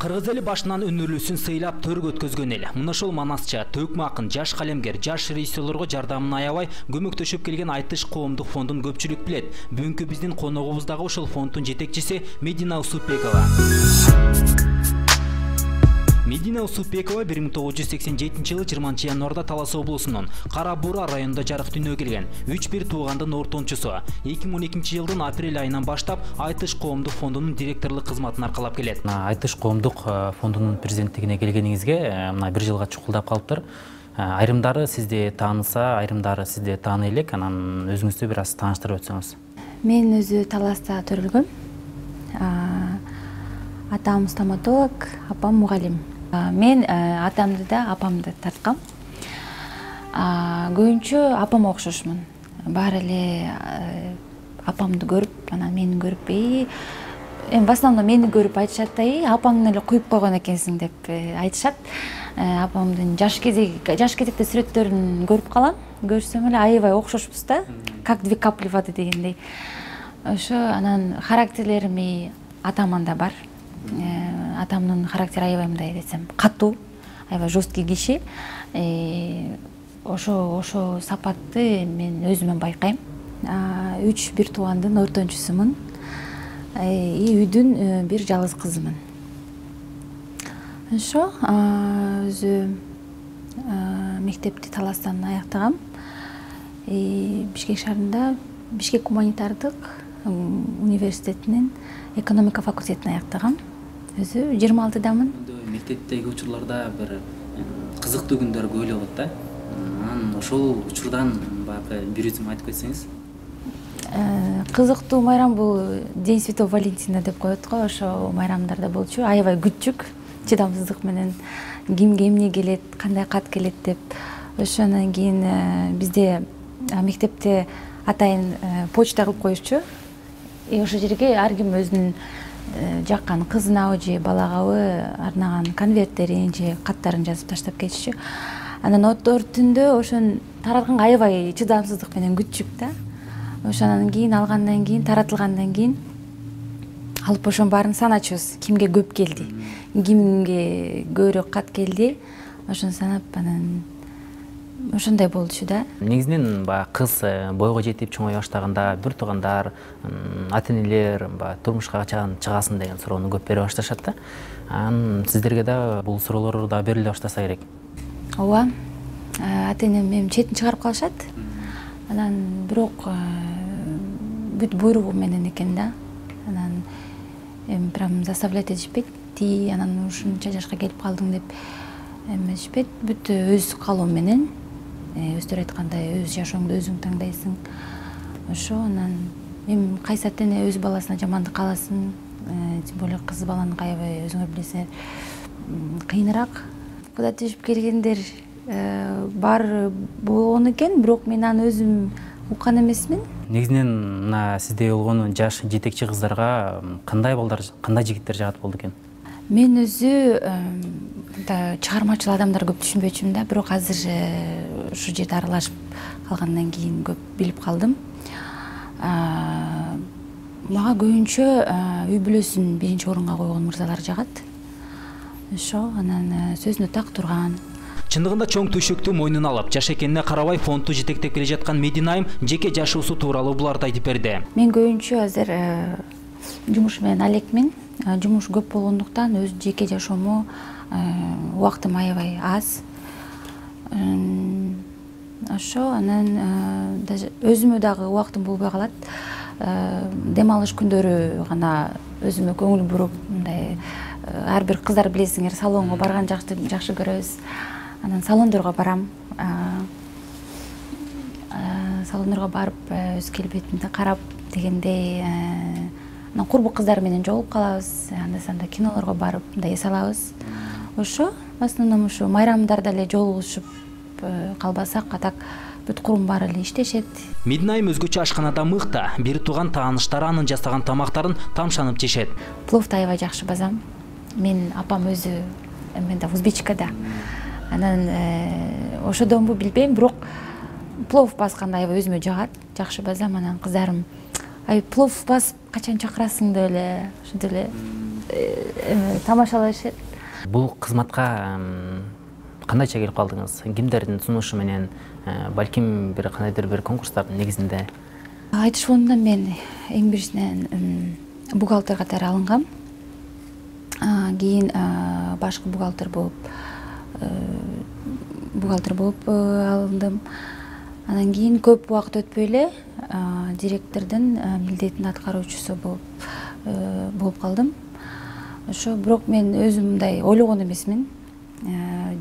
Кыргыз эли башынан өнөрлүүсүн сыйлап төргө өткөзгөн эл. Мына ошол манасча, төкмө акын, жаш калемгер, жаш режиссерлорго жардамын аябай көмөктөшүп келген Айтыш коомдук фондун көпчүлүк билет. Бүгүнкү биздин коногубуз дагы ошол фондун жетекчиси Медина Усупбекова. Медина Усупбекова 1987-жылы 20-январда Талас облусунун Кара Бура районунда жарык дүйнөгө келген. 3-1 туугандын ортончусу. 2012-жылдын апрель айынан баштап Айтыш коомдук фондунун директорлук кызматын аркалап келет. Айтыш коомдук фондунун президенттигине келгениңизге мына 1 жылга чукулдап калыптыр. Айрымдары сизди тааныса, айрымдары сизди тааный элек, анан өзүңүздү бир аз тааныштырып өтсөңүз. Мен өзү Таласта төрөлгөм. Атам стоматолог, апам мугалим. Мен атамды да, апамды тарткам. Көбүнчө апама окшошмун. Баары эле апамды көрүп, анан мени көрүп, в основном мени көрүп айтышат да, апаңды эле куюп койгон экенсиң деп айтышат. Апамдын жаш кезекте сүрөттөрүн көрүп калам. Көрсөм эле аябай окшошпуз да, как две капли воды дегендей. Ошо анан характерлерими атаманда бар. Атамдын характери аябай мындай десем, катуу, аябай жесткий киши. Ошо сапатты мен өзүмөн байкайм. 3-1 туугандын ортончусумун. Үйдүн бир жалгыз кызымын. Ошо өзү мектепти Таластан аяктагам. Бишкек шаарында Бишкек гуманитардык университетинин экономика факультетин аяктагам. Өзү 26-дамын. Мектептеги учурларда бир кызыктуу күндөр көп эле болот да. Анан ошол учурдан баягы бир үзүм айтып кетсеңиз. Кызыктуу майрам бул День Святого Валентина деп коет го. Ошо майрамдарда болчу. Аябай күчүк, чыдамсыздык менен кимге эмне келет, кандай кат келет деп. Ошондон кийин бизде мектепте атайын почта кылып коюшчу. Ошол жерге ар ким өзүнүн жаккан кызына же балагабы арнаган конверттерин же каттарын жазып таштап кетишчү. Анан отор түндө ошон таратканга аябай чыдамсыздык менен күтчүк да. Ошондан кийин алгандан кийин, таратылгандан кийин алып ошонун баарын саначубуз. Кимге көп келди, кимге көбүрөөк кат келди. Ошону санап анан ошондой болчу да. Негизинен кыз бойго жетип чоңой баштаганда бир туугандар, ата-энелер турмушка качан чыгасың деген суроону көп бере башташат да. Анан сиздерге да бул суроолор да бериле баштаса керек. Ооба. Ата-энем мени четин чыгарып калышат. Анан бирок бүт буйругу менен экен да. Анан прям заставлять этишпейт. Ти анан ушунча жашка келип калдың деп эмешпейт. Бүт өз каалоо менен өздөрү айткандай өз жашооңду өзүң таңдайсың. Ошо анан эми кайсы ата-эне өз баласына жамандык кааласын, тем более кыз баланы аябай өзүңөр билесиңер кыйыныраак. Куда түшүп келгендер бар болгон экен, бирок мен аны өзүм уккан эмесмин. Негизинен мына сиздей болгон жаш жетекчи кыздарга кандай балдар, кандай жигиттер жагат болду экен? Мен өзү чыгармачыл адамдар көп түшүнбөчүмүн да, бирок азыр ушу жерде аралашып калгандан кийин көп билип калдым. Мага көбүнчө үй бүлөсүн биринчи орунга койгон мырзалар жагат. Ошо анан сөзүнө так турган. Чындыгында чоң төшөктү мойнуна алып, жаш экенине карабай фондду жетектеп келе жаткан Медина айым жеке жашоосу тууралуу буларды айтып берди. Мен көбүнчө азыр жумуш менен алекмин. Жумуш көп болгондуктан өз жеке жашоому убактым аябай аз. Ошо анан өзүмө дагы убактым болбой калат. Дем алыш күндөрү гана өзүмө көңүл буруп, мындай ар бир кыздар билесиңер, салонго барган жакшы көрөбүз. Анан салондорго барам. Салондорго барып өз келбетимди карап дегендей, анан курбу кыздар менен жолугуп калабыз. Анда-санда кинолорго барып, мындай эс алабыз. Ошо, в основном ушу майрамдарда эле жолугушуп калбасак, атак бүт курум баары эле иштешет. Медина айым өзгөчө ашканада мыкта, бир тууган тааныштары анын жасаган тамактарын тамшанып жешет. Пловду аябай жакшы базам. Мен апам өзү эмеде узбечка да. Анан ошодонбу билбейм, бирок плов басканда аябай өзүмө жагат, жакшы базам. Анан кыздарым плов басып качан чакырасың деп эле ошентип эле тамашалашат. Бул кызматка кандайча келип калдыңыз? Кимдердин сунушу менен, балким бир кандайдыр бир конкурстардын негизинде? Айтыш фондунан мен эң биринчиден бухгалтер катары алынгам. Кийин башкы бухгалтер болуп алындым. Анан кийин көп убакыт өтпөй эле директордун милдетин аткаруучусу болуп калдым. Ошо бирок мен өзүм мындай ойлогон эмесмин.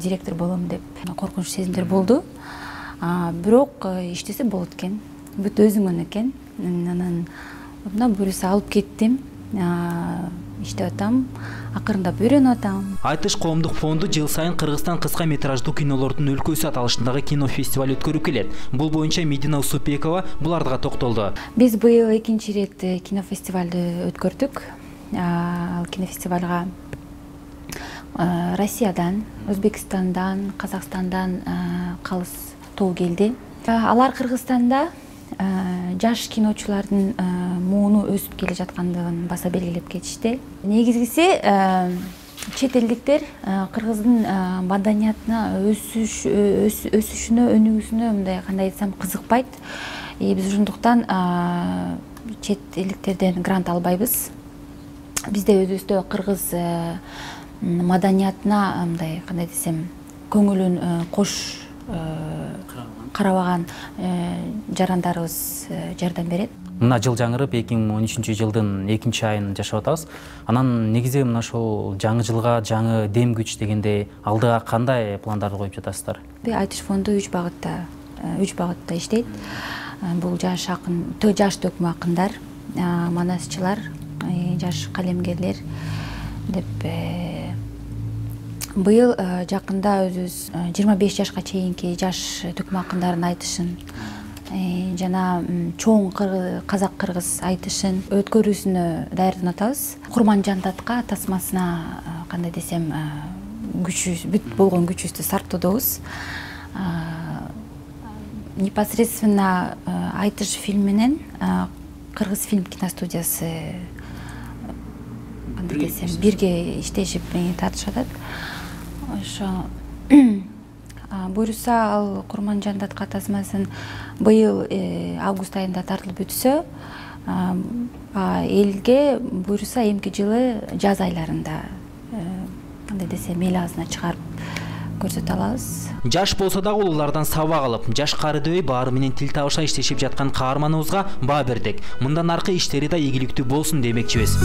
Директор болом деп коркунуч сезимдер болду. Бирок иштесе болот экен. Бүт өзүңөн экен. Анан мына буюрса алып кеттим. Иштеп атам, акырындап үйрөнүп атам. Айтыш коомдук фонду жыл сайын Кыргызстан кыска метраждуу кинолордун өлкөсү аталышындагы кинофестиваль өткөрүп келет. Бул боюнча Медина Усупбекова буларга токтолду. Биз быйыл экинчи ирет кинофестивалды өткөрдүк. Ал кинофестивалга Россиядан, Өзбекстандан, Казакстандан калыс тоо келди. Алар Кыргызстанда жаш киночулардын мууну өсүп келе жаткандыгын баса белгилеп кетишти. Негизгиси чет элдиктер кыргыздын маданиятына өсүшүнө, өнүгүүсүнө мындай кандай десем кызыкпайт. Биз ошондуктан чет элдиктерден грант албайбыз. Бизде өзүбүздө кыргыз маданиятына мындай кандай десем көңүлүн кош карабаган жарандарыбыз жардам берет. Мына жыл жаңырып 2013 жылдын 2-айын жашап атабыз. Анан негизи мына ошол жаңы жылга жаңы дем күч дегенде алдыга кандай пландарды коюп жатасыздар? Айтыш фонду 3 багытта иштейт. Бул жаш акын, жаш төкмө акындар, манасчылар, жаш калемгерлер деп быйыл жакында өзүбүз 25 жашка чейинки жаш төкмө акындардын айтышын жана чоң казак-кыргыз айтышын өткөрүүсүнө даярданып атабыз. Курманжан Датка тасмасына кандай десем бүт болгон күчүбүздү сарптоодобуз. Непосредственно айтыш фильм менен Кыргыз фильм киностудиясы кандай десем бирге иштешип тартышып атат. Ошо буюрса ал Курманжан Датка тасмасын быйыл август айында тартылып бүтсө, элге буюрса эмки жылы жаз айларында кандай десем эл азына чыгарып көрсөтө алабыз. Жаш болсо дагы улуулардан сабак алып, жаш кары дебей баары менен тил табыша иштешип жаткан каарманыбызга баа бердик. Мындан аркы иштери да ийгиликтүү болсун демекчибиз.